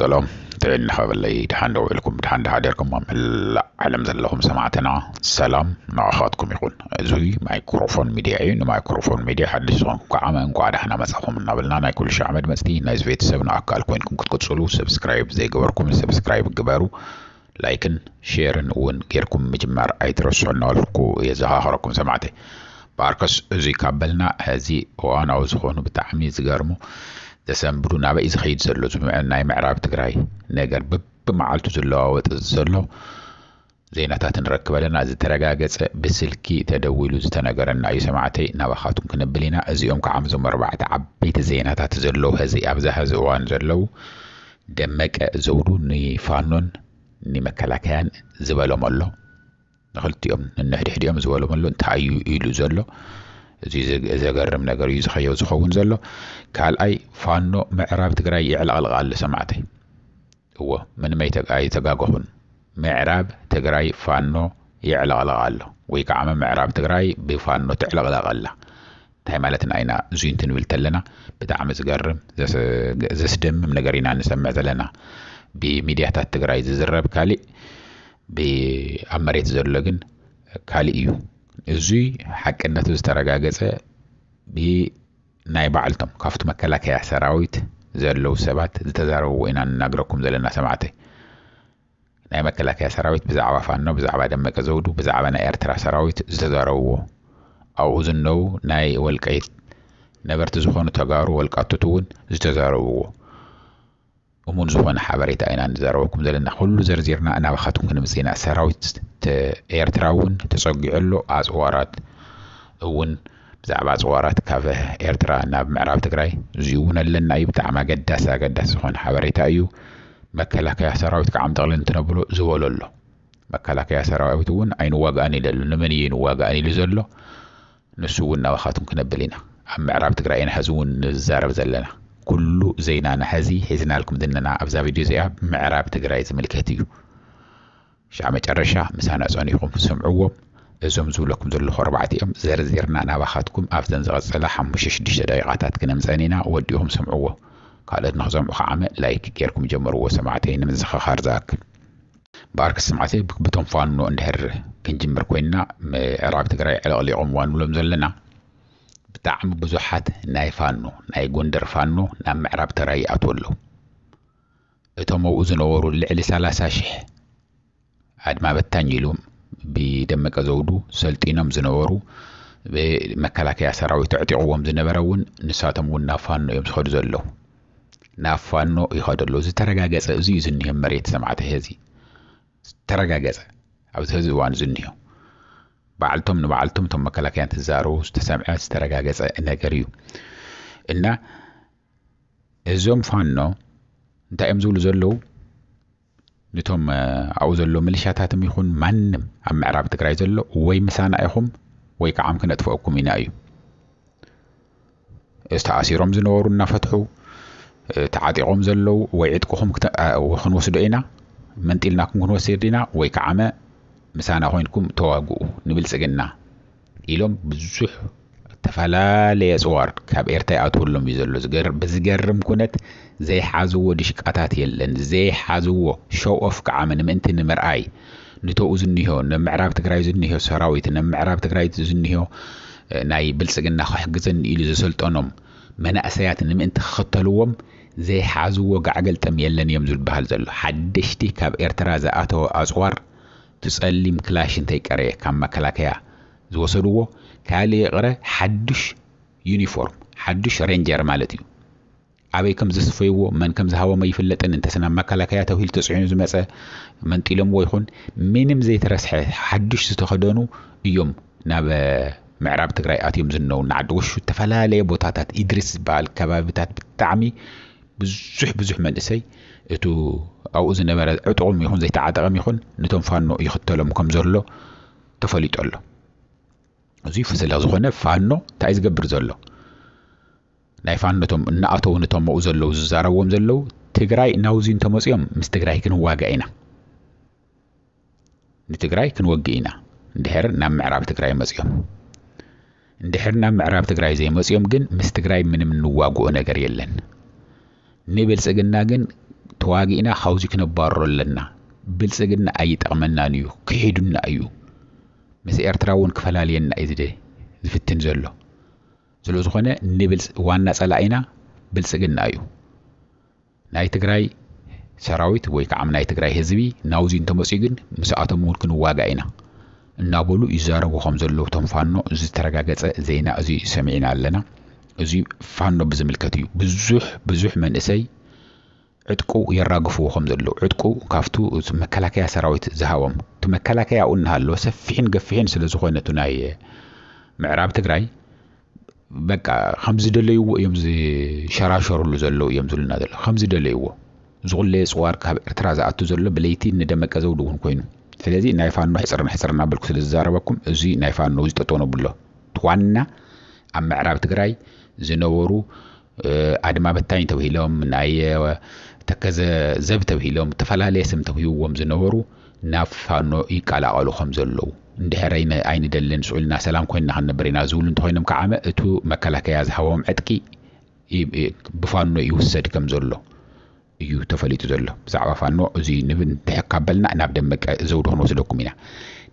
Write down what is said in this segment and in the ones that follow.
ሰላም ጥዕና ኸበለይ፣ ድሓን ደው ኢልኩም፣ ድሓን ደሓዲርኩም ኣብ መላእ ዓለም ዘለኹም ሰማዕትና፣ ሰላም ንኣኻትኩም ይኹን። እዚ ማይክሮፎን ሚድያ እዩ። ንማይክሮፎን ሚድያ ሓድሽ ዝኾንኩም ከዓ እንኳዕ ደሓና መጻኹም እናበልና፣ ናይ ኩሉ ሻዕ መድመፅቲ ናይዚ ቤተሰብ ንኣካል ኮይንኩም ክትቅፅሉ፣ ሰብስክራይብ ዘይገበርኩም ሰብስክራይብ ግበሩ። ላይክን ሼርን እውን ጌርኩም ምጅማር ኣይትረስዑ እናበልኩ የዘኻኽረኩም ሰማዕተይ። በኣርከስ እዚ ካብ በልና፣ ሕዚ እዋናዊ ዝኾኑ ብጣዕሚ ዝገርሙ ዘሰንብዱ ናበይ ዝኸይድ ዘሎ እዚ ምዕ-፣ ናይ ምዕራብ ትግራይ ነገር በብመዓልቱ ዝለዋወጥ ዘሎ ዜናታት ንረክብ ኣለና። ዝተረጋገጸ ብስልኪ ተደዊሉ ዝተነገረና እዩ ሰማዕተይ፣ ናባኻትኩም ክንብል ኢና። እዚኦም ከዓ እዞም ኣርባዕተ ዓበይቲ ዜናታት ዘለዉ ሕዚ ኣብዛ ሕዚ እዋን ዘለዉ፣ ደመቀ ዘውዱ ንፋኖን ንመከላከያን ዝበሎም ኣሎ። ንክልቲኦም ንንሕድሕዲኦም ዝበሎም ኣሎ። እንታይ እዩ ኢሉ ዘሎ? እዚ ዘ-፣ ዘገርም ነገር እዩ ዝኸየው ዝኸውን ዘሎ። ካልኣይ፣ ፋኖ ምዕራብ ትግራይ የዕለቕልቕ ኣሎ ሰማዕተይ። እዎ፣ ምንም ኣይተ-፣ ኣይተጋገኹን። ምዕራብ ትግራይ ፋኖ የዕለቕልቕ ኣሎ፣ ወይ ከዓ ምዕራብ ትግራይ ብፋኖ ትዕለቕለቕ ኣላ። እንታይ ማለትና ኢና እዙይ እንትንብል ተለና? ብጣዕሚ ዝገርም፣ ዘስ-፣ ዘስደምም ነገር ኢና ንሰምዕ ዘለና። ብሚድያታት ትግራይ ዝዝረብ ካሊእ፣ ብ-፣ ኣብ መሬት ዘሎ ግን ካሊእ እዩ። እዙይ ሓቅነቱ ዝተረጋገጸ ብናይ ባዕልቶም ካብቲ መከላከያ ሰራዊት ዘለዉ ሰባት ዝተዛረብዎ ኢና ንናግረኩም ዘለና ሰማዕተይ። ናይ መከላከያ ሰራዊት ብዛዕባ ፋኖ፣ ብዛዕባ ደመቀ ዘውዱ፣ ብዛዕባ ናይ ኤርትራ ሰራዊት ዝተዛረብዎ፣ ኣብኡ ዝነው ናይ ወልቃይት ነበርቲ ዝኾኑ ተጋሩ ወልቃቶት እውን ዝተዛረብዎ እሙን ዝኾነ ሓበሬታ ኢና ንዛረበኩም ዘለና። ኩሉ ዘርዚርና ናባኻትኩም ክንምጽእ ኢና። ሰራዊት ተ-፣ ኤርትራ እውን ተጸጊዑ ኣሎ። ኣጽዋራት እውን፣ ብዛዕባ ኣጽዋራት ካብ ኤርትራ ናብ ምዕራብ ትግራይ፣ እዚ እውን ኣለና እዩ። ብጣዕሚ ኣገዳሲ፣ ኣገዳሲ ዝኾነ ሓበሬታ እዩ። መከላከያ ሰራዊት ከዓ ምጠቕልን ትነብሎ ዝበሎ ኣሎ። መከላከያ ሰራዊት እውን ኣይንዋጋእን ኢሉ ኣሎ። ንመን እዩ ንዋጋእን ኢሉ ዘሎ? ንሱ እውን ናባኻትኩም ክነብል ኢና። ኣብ ምዕራብ ትግራይ ኢና ሕዚ እውን ንዛረብ ዘለና። ኩሉ ዜናና ሕዚ ሒዝናልኩም ዘለና ኣብዛ ቪድዮ እዚኣ ምዕራብ ትግራይ ዝምልከት እዩ። ሻዕ መጨረሻ ምሳና ጸኒኹም ስምዕዎም። እዞም ዝብለኩም ዘለኹ ኣርባዕቲኦም ዘርዚርና ናባኻትኩም ኣብዘን ዝቐጸላ ሓሙሽተ ሽዱሽተ ደቂቓታት ክነምጸን ኢና። ወዲኹም ስምዕዎ። ካልኦት ንኽሰምዑ ከዓመ ላይክ ጌርኩም ጀምርዎ ሰማዕተይ፣ ንምዝኽኻር ዝኣክል። በኣርከስ ሰማዕተይ፣ ብ-፣ ብቶም ፋኖ እንድሕር ክንጅምር ኮይንና፣ ምዕራብ ትግራይ ዕለቕሊቖምዋ ንብሎም ዘለና፣ ብጣዕሚ ብዙሓት ናይ ፋኖ፣ ናይ ጎንደር ፋኖ ናብ ምዕራብ ትግራይ ይኣትዉ ኣለዉ። እቶም ኣብኡ ዝነበሩ ልዕሊ ሰላሳ ሽሕ ኣድማ በታኝ ኢሉ ብደመቀ ዘውዱ ሰልጢኖም ዝነበሩ፣ ብመከላከያ ሰራዊት ኣዕጢቕዎም ዝነበረ እውን፣ ንሳቶም እውን ናብ ፋኖ እዮም ዝኸዱ ዘለዉ። ናብ ፋኖ ይኸዱ ኣለዉ። ዝተረጋገጸ እዚ እዩ ዝኒሀ መሬት ሰማዕተይ፣ ሕዚ ዝተረጋገጸ ኣብዚ ሕዚ እዋን ዝኒሀ። ባዕልቶም ንባዕልቶም እቶም መከላከያ እንትዛረቡ ዝተሰምዐ ዝተረጋገጸ ነገር እዩ። እና እዞም ፋኖ እንታይ እዮም ዝብሉ ዘለዉ? ነቶም፣ እ፣ ኣብኡ ዘሎ ሚሊሻታትም ይኹን ማንም ኣብ ምዕራብ ትግራይ ዘሎ ወይ ምሳና ኢኹም ወይ ከዓ ክነጥፍአኩም ኢና እዩ። ዝተኣሲሮም ዝነበሩ እናፈትሑ፣ እ፣ ተዓጢቖም ዘለዉ ወይ ዕጥቅኹም ክተ-፣ እ፣ ክንወስዶ ኢና፣ መንጢልናኩም ክንወስድ ኢና፣ ወይ ከዓመ ምሳና ኮይንኩም ተዋግኡ ንብልጽግና ኢሎም ብዙሕ ዝተፈላለየ ኣጽዋር ካብ ኤርትራ ይኣትወሎም እዩ ዘሎ። ዝገር-፣ ብዝገርም ኩነት ዘይሓዝዎ ድሽቃታት የለን። ዘይሓዝዎ ሾው ኦፍ ከዓመ ንምእንቲ ንምርኣይ ንተኡ ዝኒሆ፣ ንምዕራብ ትግራይ ዝኒሆ ሰራዊት፣ ንምዕራብ ትግራይ ዝኒሆ፣ እ፣ ናይ ብልጽግና ክሕግዘኒ ኢሉ ዘሰልጠኖም መናእሰያት ንምእንቲ ክኽተልዎም ዘይሓዝዎ ጋዕገልጠም የለን እዮም ዝበሃል ዘሎ። ሓደሽቲ ካብ ኤርትራ ዝኣተወ ኣጽዋር፣ እቲ ጸሊም ክላሽ እንተይቀረየ ካብ መከላከያ ዝወሰድዎ፣ ካልእ ይቕረ ሓዱሽ ዩኒፎርም፣ ሓዱሽ ሬንጀር ማለት እዩ። ኣበይ ከም ዘስፈይዎ፣ መን ከም ዝሃቦም ኣይፍለጥን። እንተስ ናብ መከላከያ ተባሂሉ ተጽዒኑ ዝመጸ መንጢሎምዎ ይኹን፣ ምንም ዘይተረስሐ ሓዱሽ ዝተኸደኑ እዮም ናብ፣ እ፣ ምዕራብ ትግራይ ኣትዮም ዝነው። ንዓዲ ወሹ ዝተፈላለየ ቦታታት፣ ኢድሪስ ዝበሃል ከባቢታት ብጣዕሚ ብዙሕ፣ ብዙሕ መንእሰይ እቱ ኣብኡ ዝነበረ ዕጡቕም ይኹን ዘይተዓጠቐም ይኹን፣ ነቶም ፋኖ ይኽተሎም ከም ዘሎ ተፈሊጡ ኣሎ። እዙይ ስለ ዝኾነ ፋኖ እንታይ ዝገብር ዘሎ? ናይ ፋኖ እቶም እናኣተዉ ነቶም ኣብኡ ዘለዉ ዝዛረብዎም ዘለዉ፣ ትግራይ ናውዚ እንተመፅኦም ምስ ትግራይ ክንዋጋእ ኢና፣ ንትግራይ ክንወግእ ኢና፣ እንድሕር ናብ ምዕራብ ትግራይ መፅኦም። እንድሕር ናብ ምዕራብ ትግራይ ዘይመፅኦም ግን ምስ ትግራይ ምንም እንዋግኦ ነገር የለን። ንብልፅግና ግን ተዋጊእና ካብዚ ክነባርሮ ኣለና። ብልጽግና ኣይጠቕመናን እዩ፣ ክሒዱና እዩ። ምስ ኤርትራ እውን ክፈላልየና እዩ ዝደ-፣ ዝፍትን ዘሎ። ስለ ዝኾነ ንብልጽ-፣ ዋና ጸላኢና ብልጽግና እዩ። ናይ ትግራይ ሰራዊት ወይ ከዓ ናይ ትግራይ ህዝቢ ናውዚ እንተመፅኡ ግን ምስኣቶም እውን ክንዋጋእ ኢና እናበሉ ይዛረቡ ከም ዘለዉ እቶም ፋኖ ዝተረጋገፀ ዜና እዚ ሰሚዕና ኣለና። እዚ ፋኖ ብዝምልከት እዩ። ብዙሕ ብዙሕ መንእሰይ ዕጥቁ የራግፍዎ ከም ዘለዉ፣ ዕጥቁ ካብቱ እቲ መከላከያ ሰራዊት ዝሃቦም፣ እቲ መከላከያ ኣብኡ እናሃለወ ሰፊሕን ገፊሕን ስለ ዝኾነ እቲ ናይ ምዕራብ ትግራይ በቃ ከም ዝደለይዎ እዮም ዝሸራሸሩሉ ዘለዉ እዮም ዝብሉና ዘለዉ። ከም ዝደለይዎ ዝቑለየ ፅዋር ካብ ኤርትራ ዝኣቱ ዘሎ ብለይቲ ንደመቀ ዘውዱ እውን ኮይኑ። ስለዚ ናይ ፋኖ ሕፅር ንሕፅር እናበልኩ ስለ ዝዛረበኩም እዚ ናይ ፋኖ ዝጠጠው ነብሎ። እቲ ዋና ኣብ ምዕራብ ትግራይ ዝነበሩ፣ እ፣ ኣድማ በታኝ ተብሂሎም፣ ናይ፣ እ፣ ተከዘ ዘብ ተብሂሎም፣ ዝተፈላለየ ስም ተውሂብዎም ዝነበሩ ናብ ፋኖ ይቀላቐሉ ከም ዘለዉ፣ እንድሕር ኣይነ-፣ ኣይንደልን፣ ስዑልና ሰላም ኮይንና ክንነብር ኢና ዝብሉ እንተኾይኖም ከዓመ እቱ መከላከያ ዝሃቦም ዕጥቂ ይ-፣ ይ-፣ ብፋኖ ይውሰድ ከም ዘሎ እዩ ተፈሊጡ ዘሎ። ብዛዕባ ፋኖ እዚ ንብ-፣ እንድሕር ካበልና ናብ ደመቀ ዘውዱ ክንወስደኩም ኢና።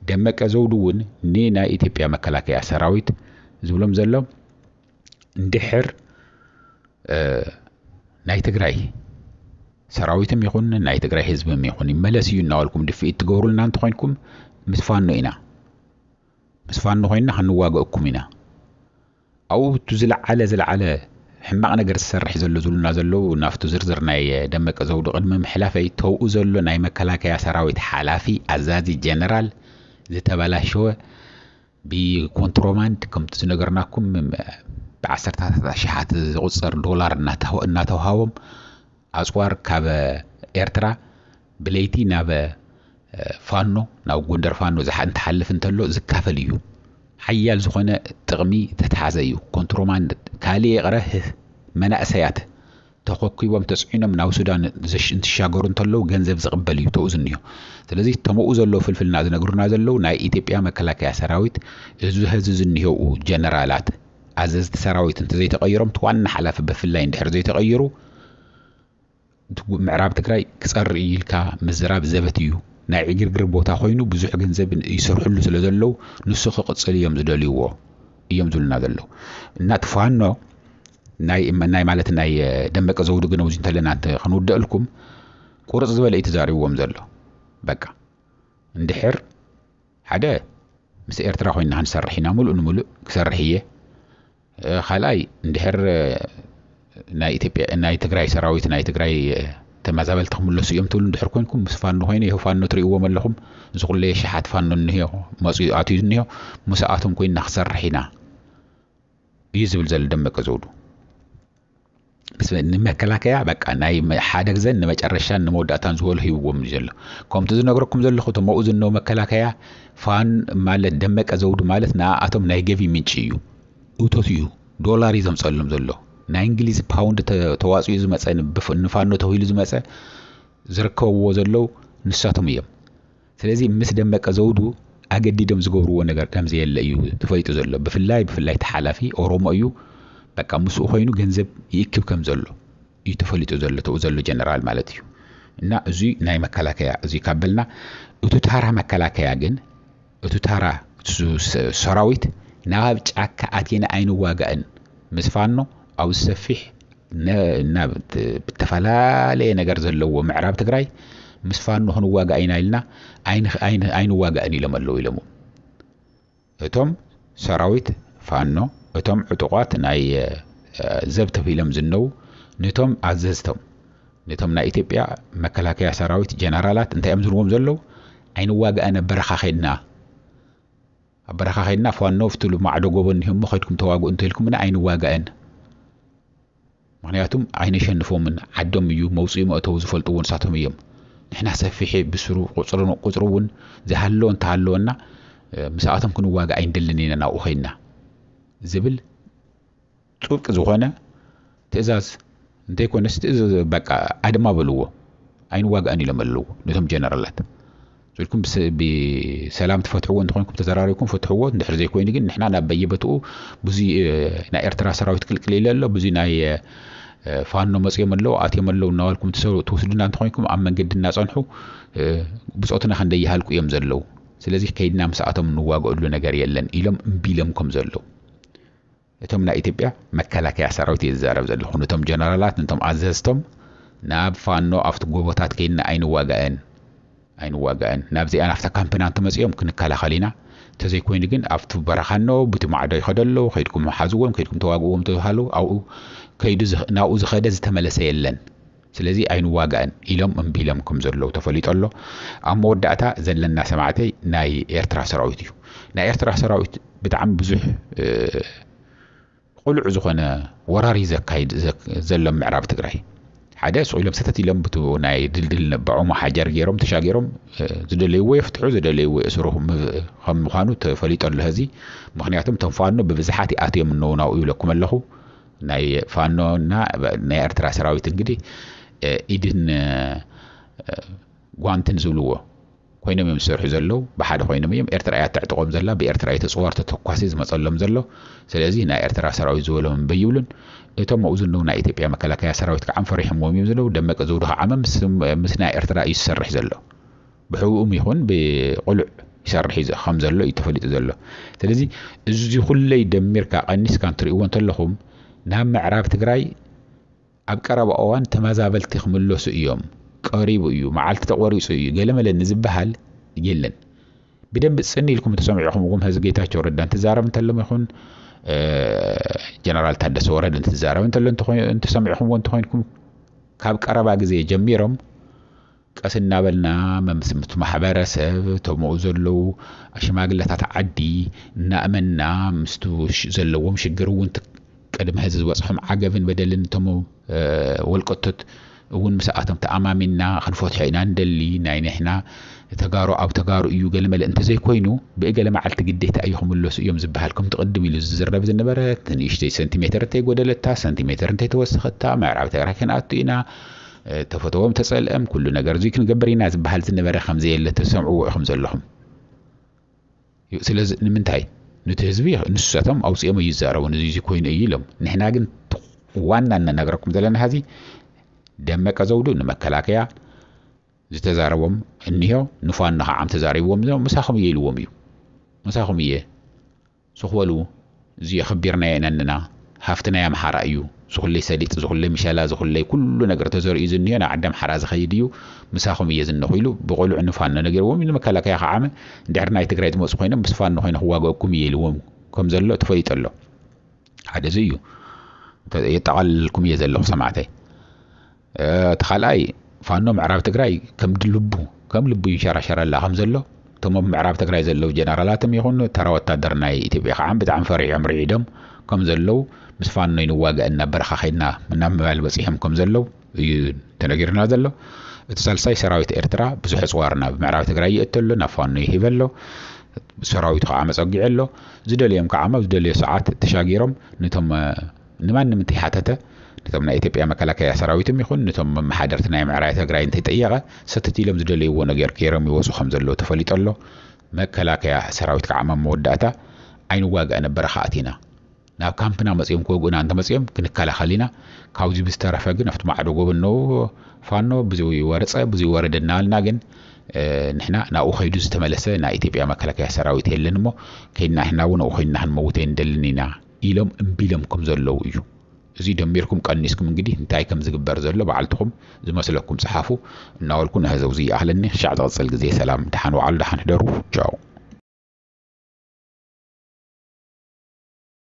ደመቀ ዘውዱ እውን ንናይ ኢትዮጵያ መከላከያ ሰራዊት ዝብሎም ዘሎ እንድሕር፣ እ፣ ናይ ትግራይ ሰራዊትም ይኹን ናይ ትግራይ ህዝብም ይኹን ይመለስ እዩ እናበልኩም ድፍኢት ትገብሩልና እንተኾይንኩም ምስ ፋኖ ኢና። ምስ ፋኖ ኮይንና ክንዋገእኩም ኢና። ኣብኡ እቲ ዝለዓለ፣ ዝለዓለ ሕማቕ ነገር ዝሰርሕ ዘሎ ዝብሉና ዘለዉ ናብቲ ዝርዝር ናይ ደመቀ ዘውዱ ቅድሚ ምሕላፈይ ተውኡ ዘሎ ናይ መከላከያ ሰራዊት ሓላፊ ኣዛዚ ጀነራል ዝተበላሸወ ብኮንትሮባንድ ከምቲ ዝነገርናኩም ብዓሰርታታት ኣሽሓት ዝቑጸር ዶላር እናተሃ-፣ እናተውሃቦም ኣጽዋር ካብ ኤርትራ ብለይቲ ናብ፣ እ፣ ፋኖ፣ ናብ ጎንደር ፋኖ ዝሓ-፣ እንትሓልፍ እንተሎ ዝካፈል እዩ። ሓያል ዝኾነ ጥቕሚ ተተሓዘ እዩ። ኮንትሮባንድ ካልእ ይቕረ፣ ህ-፣ መናእሰያት ተኾኪቦም ተጽዒኖም ናብ ሱዳን ዘሽ-፣ እንትሻገሩ እንተለዉ ገንዘብ ዝቕበል እዩ ተኡ ዝኒሆ። ስለዚ ተመኡ ዘለዉ ፍልፍልና ዝነግሩና ዘለዉ ናይ ኢትዮጵያ መከላከያ ሰራዊት እዚ ሀዚ ዝኒሄው ጀነራላት ኣዘዝቲ ሰራዊት እንተዘይተቐይሮም፣ እቲ ዋና ሓላፊ ብፍላይ እንድሕር ዘይተቐይሩ፣ እቲ ምዕራብ ትግራይ ክጸሪ እዩ ኢልካ ምዝራብ ዘበት እዩ። ናይ ዕግርግር ቦታ ኮይኑ ብዙሕ ገንዘብ ይሰርሕሉ ስለ ዘለዉ ንሱ ክቕጽል እዮም ዝደልይዎ እዮም ዝብሉና ዘለዉ። እና እቲ ፋኖ ናይ፣ ናይ ማለት ናይ ደመቀ ዘውዱ ግን ኣብዚ እንተለና እንተ ክንውደእልኩም ቁርጽ ዝበለ እዩ ተዛሪብዎም ዘሎ። በቃ እንድሕር ሓደ ምስ ኤርትራ ኮይንና ክንሰርሕ ኢና፣ ምሉእ ንምሉእ ክሰርሕ እየ። እ፣ ካልኣይ እንድሕር፣ እ፣ ናይ ኢትዮጵያ፣ ናይ ትግራይ ሰራዊት፣ ናይ ትግራይ፣ እ፣ ተመዛበልቲ ክምለሱ እዮም ትብሉ እንድሕር ኮይንኩም ምስ ፋኖ ኮይነ ይኸው ፋኖ ትርእይዎም ኣለኹም። እዚ ኩለየ ሸሓት ፋኖ እንሄ መፅኡ ኣትዩ እንሄ ምስኣቶም ኮይንና ክሰርሕ ኢና እዩ ዝብል ዘሎ ደመቀ ዘውዱ። ምስ ንመከላከያ በቃ ናይ መ-፣ ሓደ ግዘን ንመጨረሻን ንመወዳእታን ዝበሉ ሂብዎም እዩ ዘሎ። ከምቲ ዝነግረኩም ዘለኹ እቶም ኣብኡ ዝነው መከላከያ ፋን ማለት ደመቀ ዘውዱ ማለት ንኣቶም ናይ ገቢ ምንጪ እዩ። እቶት እዩ። ዶላር እዩ ዘምፀሎም ዘሎ። ናይ እንግሊዝ ፓውንድ ተ-፣ ተዋፅኡ ዝመፀ ንብፍ-፣ ንፋኖ ተባሂሉ ዝመፀ ዝርከብዎ ዘለዉ ንሳቶም እዮም። ስለዚ ምስ ደመቀ ዘውዱ ኣገዲዶም ዝገብርዎ ነገር ከም ዘየለ እዩ ተፈሊጡ ዘሎ። ብፍላይ፣ ብፍላይ እቲ ሓላፊ ኦሮሞ እዩ። በቃ ምስኡ ኮይኑ ገንዘብ ይእክብ ከም ዘሎ እዩ ተፈሊጡ ዘሎ፣ ተኡ ዘሎ ጀነራል ማለት እዩ። እና እዚ ናይ መከላከያ እዚ ካብ በልና፣ እቲ ታራ መከላከያ ግን፣ እቲ ታራ ሱ-፣ ሰ-፣ ሰራዊት ናብ ጫካ ኣቲና ኣይንዋጋእን፣ ምስ ፋኖ ኣብ ሰፊሕ ነ-፣ ናብ ት-፣ ብተፈላለየ ነገር ዘለዎ ምዕራብ ትግራይ ምስ ፋኖ ክንዋጋእ ኢና ኢልና ኣይን-፣ ኣይን-፣ ኣይንዋጋእን ኢሎም ኣለዉ ኢሎምዎም። እቶም ሰራዊት ፋኖ፣ እቶም ዕጡቋት ናይ፣ እ፣ ዘብ ተባሂሎም ዝነው፣ ነቶም ኣዘዝቶም፣ ነቶም ናይ ኢትዮጵያ መከላከያ ሰራዊት ጀነራላት እንታይ እዮም ዝብልዎም ዘለዉ? ኣይንዋጋእን፣ ኣብ በረኻ ኸድና፣ ኣብ በረኻ ኸድና ፋኖ ኣብቲ ማዕዶ ጎቦ እኒሆ እሞ ኸድኩም ተዋግኡ እንተኢልኩምና ኣይንዋጋእን። ምኽንያቱም ኣይነሸንፎምን፣ ዓዶም እዩ፣ መውፅኢ መእተዊ ዝፈልጥዎ ንሳቶም እዮም። ንሕና ሰፊሕ ብስሩ ቁፅሪ፣ ቁፅሪ እውን ዝሃለወ እንተሃለወና፣ እ፣ ምስኣቶም ክንዋጋእ ኣይንደልን ኢና ናብኡ ኸይድና ዝብል ጥብቂ ዝኾነ ትእዛዝ እንተይኮነስ ትእዛዝ በቃ ኣድማ በልዎ። ኣይንዋጋእን ኢሎም ኣለዉ ነቶም ጀነራላት። ኢልኩም ብስ-፣ ብሰላም ትፈትሕዎ እንተኾይንኩም ተዘራሪብኩም ፍትሕዎ። እንድሕር ዘይኮይኑ ግን ንሕና ናብ በየበትኡ ብዙ፣ እ፣ ናይ ኤርትራ ሰራዊት ቅልቅል ኢለ ኣሎ፣ ብዙ ናይ፣ እ፣ ፋኖ መፅኦም ኣለዉ ኣትዮም ኣለዉ እናበልኩም ትወስዱና እንተኾይንኩም ኣብ መንገዲ እናፀንሑ ብፆትና ክንደይ ይሃልቁ እዮም ዘለዉ። ስለዚ ከይድና ምስኣቶም እንዋገእሉ ነገር የለን ኢሎም እምቢ ኢሎም ከም ዘለዉ እቶም ናይ ኢትዮጵያ መከላከያ ሰራዊት እየ ዝዛረብ ዘለኹ። ነቶም ጀነራላት ነቶም ኣዘዝቶም ናብ ፋኖ ኣብቲ ጎቦታት ከይድና ኣይንዋጋእን ኣይንዋጋእን ናብዚኣ ናብታ ካምፕና እንተመፂኦም ክንከላኸል ኢና። እንተዘይኮይኑ ግን ኣብቲ በረኻ እነው ብቲ ማዕዶ ይኸደ ኣለዉ ከይድኩም ሓዝዎም ከይድኩም ተዋግእዎም ተባሃሉ ኣብኡ ከይዱ ናብኡ ዝኸደ ዝተመለሰ የለን። ስለዚ ኣይንዋጋእን ኢሎም እምቢ ኢሎም ከም ዘለዉ ተፈሊጡ ኣሎ። ኣብ መወዳእታ ዘለና ሰማዕተይ ናይ ኤርትራ ሰራዊት እዩ። ናይ ኤርትራ ሰራዊት ብጣዕሚ ብዙሕ ቁሉዕ ዝኾነ ወራሪ ዘካይድ ዘሎ ምዕራብ ትግራይ ሓደ ስቕ ኢሎም ሰተት ኢሎም ብቱ ናይ ድልድል ነባዖም ሓጀር ገይሮም ተሻጊሮም ዝደለይዎ የፍትሑ ዝደለይዎ የእስሩ ከም ምዃኑ ተፈሊጦ ኣሎ። ህዚ ምክንያቱም እቶም ፋኖ ብብዝሓት ይኣትዮም እነው ናብኡ ይብለኩም ኣለኹ። ናይ ፋኖና ናይ ኤርትራ ሰራዊት እንግዲህ ኢድን ጓንትን ዝብልዎ ኮይኖም እዮም ዝሰርሑ ዘለዉ። ብሓደ ኮይኖም እዮም። ኤርትራ እያ ተዕጥቖም ዘላ። ብኤርትራ እዩ ተፅዋር ተተኳሲ ዝመፀሎም ዘሎ። ስለዚ ናይ ኤርትራ ሰራዊት ዝበሎም እምበ ይብሉን። እቶም ኣብኡ ዘለዉ ናይ ኢትዮጵያ መከላከያ ሰራዊት ከዓ ፈሪሖምዎም እዮም ዘለዉ። ደመቀ ዘውዱ ከዓ ምስ ናይ ኤርትራ እዩ ዝሰርሕ ዘሎ። ብሕቡእም ይኹን ብቁሉዕ ይሰርሕ እዩ ከም ዘሎ እዩ ተፈሊጡ ዘሎ። ስለዚ እዚ ኩለይ ደሚርካ ቀኒስካ እንትርእይዎ እንተለኹም ናብ ምዕራብ ትግራይ ኣብ ቀረባ እዋን ተመዛበልቲ ክምለሱ እዮም፣ ቀሪቡ እዩ፣ መዓልቲ ተቖሪፁ እዩ፣ ገለመለ ንዝበሃል የለን። ብደንቢ ፅን ኢልኩም ተሰሚዕኹም እውን ህዚ ጌታቸው ረዳ እንትዛረብ እንተሎም ይኹን ጀነራል ታደሰ ወረደ እንትዛረብ እንተሎ እንተሰሚዕኹምዎ እንተኮይንኩም ካብ ቀረባ ግዜ ጀሚሮም ቀስ እናበልና ምስ ማሕበረሰብ ተምኡ ዘለዉ ሽማግለታት ዓዲ እናእመንና ምስቱ ዘለዎም ሽግር እውን ቅድሚ ሕዚ ዝበፅሖም ዓገብን በደልን እቶም ወልቀቶት እውን ምስኣቶም ተኣማሚንና ክንፈትሖ ኢና ንደሊ። ናይ ንሕና ተጋሩ ኣብ ተጋሩ እዩ ገለመለ እንተዘይኮይኑ ብእገለ መዓልቲ ግዴታ እዩ ክምለሱ እዮም ዝበሃል ከምቲ ቅድም ኢሉ ዝዝረብ ዝነበረ ንእሽተይ ሰንቲሜተር እንተይጎደለታ ሰንቲሜተር እንተይተወሰኸታ ምዕራብ ትግራይ ክንኣቱ ኢና ተፈተዎም ተፀልአም ኩሉ ነገር እዙይ ክንገብር ኢና ዝበሃል ዝነበረ ከምዘየለ ተሰምዕዎ ኢኹም ዘለኹም። ስለዚ ንምንታይ ንቲ ህዝቢ ንሳቶም ኣውፅኦም እዩ ዝዛረቡ እዚ ኮይኑ እዩ ኢሎም ንሕና ግን ዋና እናነገረኩም ዘለና ሀዚ ደመቀ ዘውዱ ንመከላከያ ዝተዛረቦም እኒሆ ንፋኖ ከዓ ተዛሪብዎም ምሳኹም እየ ኢልዎም እዩ ምሳኹም እየ ስኽበሉ እዚ የኽቢርናዮ ኢና እንና ሃፍቲ ናይ ኣምሓራ እዩ ዝኹለይ ሰሊጥ ዝኹለይ ምሸላ ዝኹለይ ኩሉ ነገር ተዘሪኡ ዝኒሆ ናብ ዓዲ ኣምሓራ ዝኸይድ እዩ ምሳኹም እየ ዝነኹ ኢሉ ብቆልዑ ንፋኖ ነጊርዎም እዩ ንመከላከያ ከዓመ እንድሕር ናይ ትግራይ ዝመፁ ኮይኖም ምስ ፋኖ ኮይነ ክዋገእኩም እየ ኢልዎም ከም ዘሎ ተፈሊጡ ኣሎ ሓደ እዚ እዩ የጠቓልልኩም እየ ዘለኹ ሰማዕተይ እቲ ካልኣይ ፋኖ ምዕራብ ትግራይ ከም ልቡ ከም ልቡ ይንሸራሸረላ ከም ዘሎ እቶም ኣብ ምዕራብ ትግራይ ዘለዉ ጀነራላትም ይኹን ተራ ወታደር ናይ ኢትዮጵያ ከዓ ብጣዕሚ ፈሪሖም ርዒዶም ከም ዘለዉ ምስ ፋኖ ይንዋጋእ እናብ በረኻ ከይድና እናብ ምባል በፂሖም ከም ዘለዉ እዩ ተነጊርና ዘሎ። እቲ ሳልሳይ ሰራዊት ኤርትራ ብዙሕ ኣፅዋር ናብ ምዕራብ ትግራይ ይእቱ ኣሎ ናብ ፋኖ ይህብ ኣሎ። ሰራዊቱ ከዓ መፀጊዑ ኣሎ። ዝደልዮም ከዓ ኣብ ዝደልዮ ሰዓት ተሻጊሮም ነቶም ንማንም እንተይሓተተ ነቶም ናይ ኢትዮጵያ መከላከያ ሰራዊትም ይኹን ነቶም መመሓደርቲ ናይ ምዕራይ ትግራይ እንተይጠየቐ ሰተት ኢሎም ዝደለይዎ ነገር ገይሮም ይወፁ ከም ዘለዉ ተፈሊጡ ኣሎ። መከላከያ ሰራዊት ከዓ ኣብ መወዳእታ ኣይንዋጋእ ነበረ ከኣት ኢና ናብ ካምፕና መፅኦም ክወግኡና እንተመፅኦም ክንከላኸል ኢና። ካብዚ ብዝተረፈ ግን ኣብቲ ማዕዶ ጎበኖ ፋኖ ብዙይ ወረፀ ብዙይ ወረደ እናበልና ግን ንሕና ናብኡ ከይዱ ዝተመለሰ ናይ ኢትዮጵያ መከላከያ ሰራዊት የለን እሞ ከይድና ንሕና እውን ኣብኡ ኮይንና ክንመውት ኣይንደልን ኢና ኢሎም እምቢ ኢሎም ከም ዘለዉ እዩ። እዚ ደሚርኩም ቀኒስኩም እንግዲህ እንታይ ከም ዝግበር ዘሎ ባዕልትኹም ዝመስለኩም ፀሓፉ እናበልኩ ንህዘው ዝይኣኽለኒ ክሻዕ ዝቕፅል ግዜ ሰላም ደሓን ዋዕሉ ደሓን ሕደሩ። ቻው።